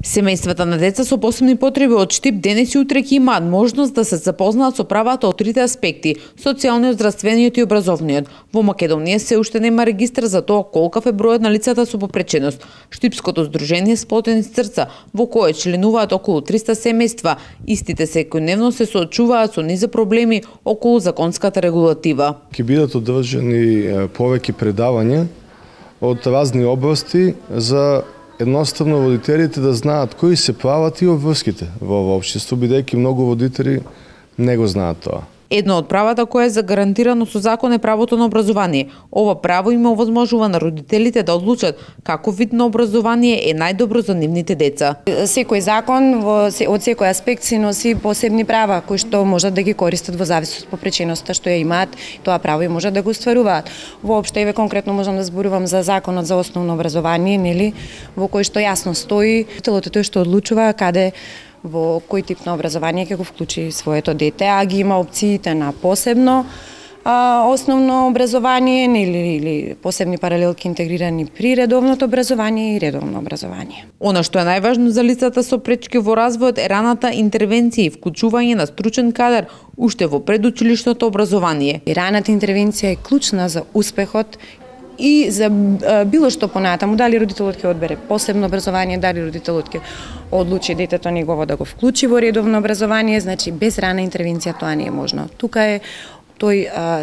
Семејствата на деца со посебни потреби од Штип денес и утре ќе имаат можност да се запознаат со правата од трите аспекти – социјалниот, здравствениот и образовниот. Во Македонија се уште нема регистар за тоа колкав е бројот на лицата со попреченост. Штипското здружение Сплотени срца, во кое членуваат околу 300 семејства, истите секојдневно се соочуваат со низа проблеми околу законската регулатива. Ќе бидат одржани повеќе предавања од разни области за едноставно родителите да знаат кои се прават и обврските во општество, бидејќи многу родители не го знаат тоа. Едно од правата кое е загарантирано со закон е правото на образование. Ова право им овозможува на родителите да одлучат каков вид на образование е најдобро за нивните деца. Секој закон од секој аспект си носи посебни права кои што можат да ги користат во зависност од попреченоста што ја имаат, тоа право и можат да го остваруваат. Воопшто еве конкретно можам да зборувам за законот за основно образование, нели, во кој што јасно стои телото тој што одлучува каде во кој тип на образование ќе го вклучи своето дете, а ги има опциите на посебно основно образование или посебни паралелки интегрирани при редовното образование и редовно образование. Она што е најважно за лицата со пречки во развојот е раната интервенција и вклучување на стручен кадар уште во предучилишното образование. И раната интервенција е клучна за успехот и за било што понатаму, дали родителот ќе одбере посебно образование, дали родителот ќе одлучи детето негово да го вклучи во редовно образование, значи без рана интервенција тоа не е можно. Тука е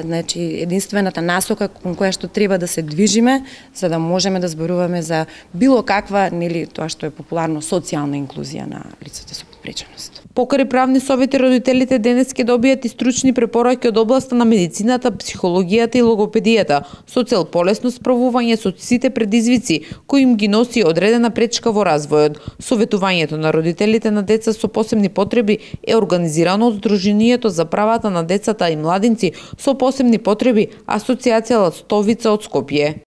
значи единствената насока кон која што треба да се движиме за да можеме да зборуваме за било каква, нели, тоа што е популарно социјална инклузија на лицата со попреченост. Покрај правни совети, родителите денес ќе добијат и стручни препораки од областа на медицината, психологијата и логопедијата, со цел полесно справување со сите предизвици кои им ги носи одредена пречка во развојот. Советувањето на родителите на деца со посебни потреби е организирано од Сдруженијето за правата на децата и младинци со посебни потреби, Асоцијација Ластовица од Скопје.